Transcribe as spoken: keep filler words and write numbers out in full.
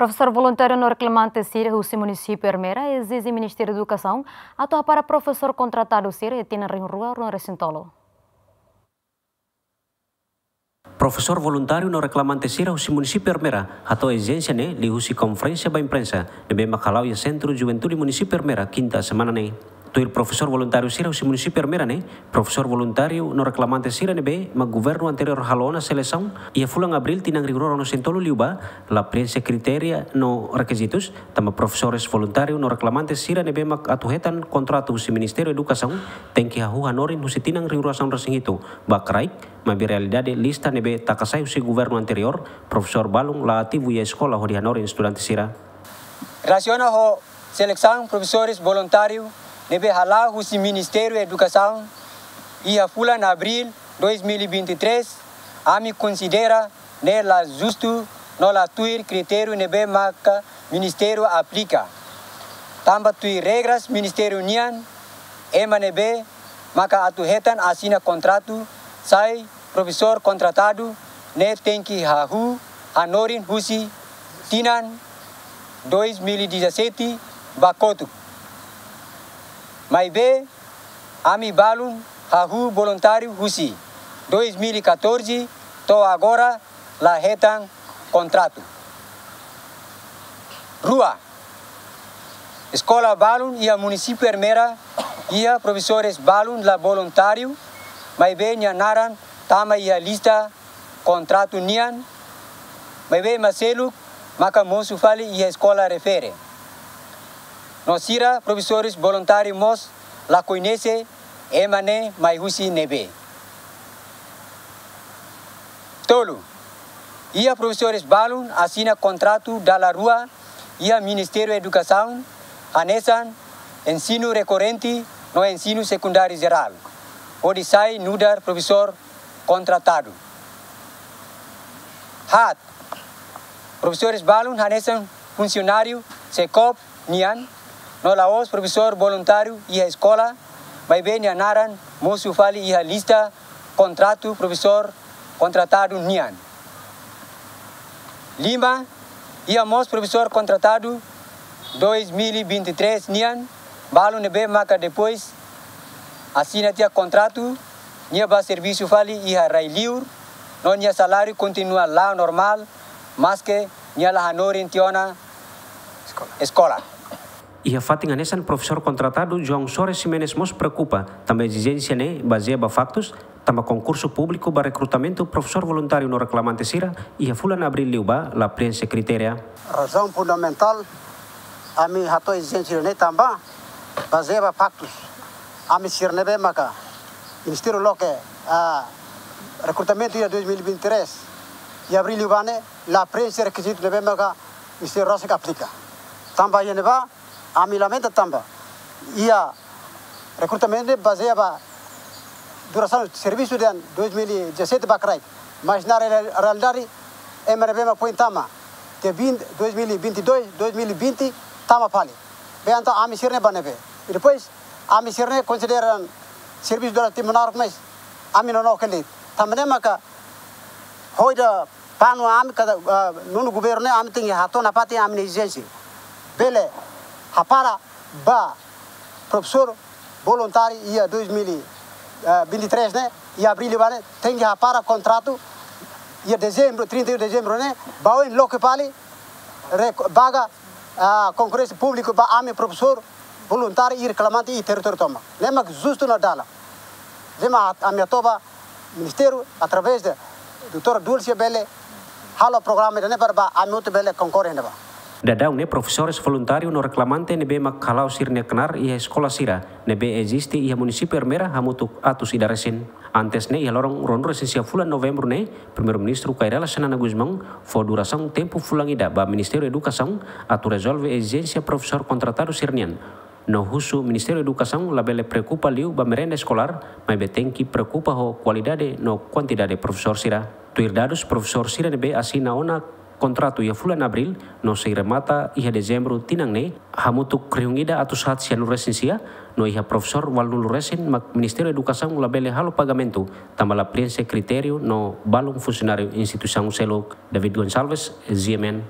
Profesór voluntáriu no reklamante sira husi munisípiu Ermera ezije Ministériu Edukasaun atu hapara profesór kontratadu sira iha tinan rihun rua ruanulu-resin-tolu. Profesór voluntáriu no reklamante sira husi munisípiu Ermera hato'o ezijénsia ne'e liuhusi konferénsia ba imprensa ne'ebé mak hala'o iha Sentru Juventude Munisípiu Ermera, kinta semana ne'e. Tuir profesór voluntáriu sira husi munisípiu Ermera ne'e, profesór voluntáriu no reklamante sira ne'ebé mak governu anteriór halo ona selesaun iha fulan Abríl tinan rihun rua ruanulu-resin-tolu liubá, la preenxe kritéria no rekizitus, tanba profesores voluntáriu no reklamante sira ne'ebé mak atu hetan kontratu husi Ministériu Edukasaun tenke hahú hanorin husi tinan rihun rua sanulu-resin-hitu ba kraik, maibé realidade lista ne'ebé taka sai husi governu anteriór, profesór balun la ativu iha eskola hodi hanorin estudante sira. Relasiona ho selesaun profesores voluntáriu ne'ebé hala'o husi Ministériu Edukasaun iha fulan Abríl dois mil e vinte e três, ami konsidera ne'e la justu no la tuir kritériu ne'ebé maka ministériu aplika. Tanba tuir regras ministériu nian, ema ne'ebé maka atu hetan asina kontratu sai profesór kontratadu ne'e tenke hahú hanorin husi tinan dois mil e dezassete ba kotuk. Maibé, ami balun hahú voluntáriu husi dois mil e catorze to'o agora la hetan kontratu. Rua, eskola balun iha munisípiu Ermera iha profesores balun la voluntáriu, maibé nia naran tama iha lista kontratu nian, maibé ema seluk maka mosu fali iha eskola refere. No sira profesores voluntáriu mós la koñese ema ne'e mai husi ne'ebé. Tolu, iha profesores balun asina kontratu dala rua iha Ministériu Edukasaun, hanesan ensinu rekorrente no ensinu sekundáriu jerál, hodi sai nu'udar profesór kontratadu. Haat, profesores balun hanesan funsionáriu SECOP nian, no la'ós profesór voluntáriu iha eskola, maibé nia naran mosu fali iha lista kontratu profesór kontratadu nian. Lima, iha mós profesór kontratadu dois mil e vinte e três nian, balun ne'ebé maka depois asina tiha kontratu, nia bá servisu fali iha rai-li'ur, no nia saláriu kontinua la'o normál, maske nia la hanorin tiha ona eskola. Iha fatin hanesan, profesór kontratadu João Soares Ximenes mós preokupa, tanba ezijénsia ne'e bazeia ba faktus, tanba konkursu públiku ba rekrutamentu profesór voluntáriu no reklamante sira iha fulan Abríl liubá la preenxe kritéria. Razaun fundamentál ami hato'o ezijénsia ne'e tanba bazeia ba faktus. Ami sira ne'ebé maka ministériu loke, ah, rekrutamentu iha dois mil e vinte e três, iha Abríl liubá ne'e la preenxe rekizitu ne'ebé maka ministériu rasik aplika. Tanba iha ne'ebá, ami lamenta tanba iha rekrutamentu ne'e bazeia ba durasaun servisu dehan dois mil e dezassete ba kraik. Mas na real-, realidade, ema ne'ebé mak foin tama tiha vinte, dois mil e vinte e dois, dois mil e vinte, tama fali. Be entaun ami sira ne'e ba ne'ebé? I depois, ami sira ne'e konsidera servisu durante tempu naruk, mas ami nonook hela de'it. Tanba ne'e maka hodi panu ami katak, ah, nonu governu ne'e ami tenke hato'o nafatin ami-nia ezijénsia. Bele hapara ba profesór voluntáriu iha dois mil e vinte e três ne'e, iha Abríl liubá ne'e, tenke hapara kontratu iha Dezembru, trinta e um de Dezembru ne'e, ba oin loke fali, rek-, baga, ah, konkursu públiku ba ami profesór voluntáriu i reklamante iha territóriu tomak. Ne'e mak justu no dalan. Ne'e mak ami hato'o ba ministériu, através de doutora Dulce bele halo programa ida-ne'e para ba ami hotu bele konkorre iha ne'ebá. Daudaun ne'e profesores voluntáriu no reklamante ne'ebé mak hala'o sira-nia knaar iha eskola sira ne'ebé eziste iha munisípiu Ermera hamutuk atus ida resin. Antes ne'e, iha loron ruanulu-resin-sia fulan Novembru ne'e, Primeiru-Ministru Kay Rala Xanana Gusmão fó durasaun tempu fulan ida ba Ministériu Edukasaun atu rezolve ezijénsia profesór kontratadu sira-nian. No husu Ministériu Edukasaun labele preokupa liu ba merenda eskolár, maibé tenke preokupa ho kualidade no kuantidade profesór sira. Tuir dadus, profesór sira ne'ebé asina ona kontratu iha fulan Abríl no sei remata iha Dezembru tinan ne'e, hamutuk rihun ida atus haat sianulu-resin-sia, no iha profesór ualunulu resin mak Ministériu Edukasaun labele halo pagamentu, tanba la preenxe kritériu no balun funsionáriu instituisaun seluk. David Gonçalves, G M N.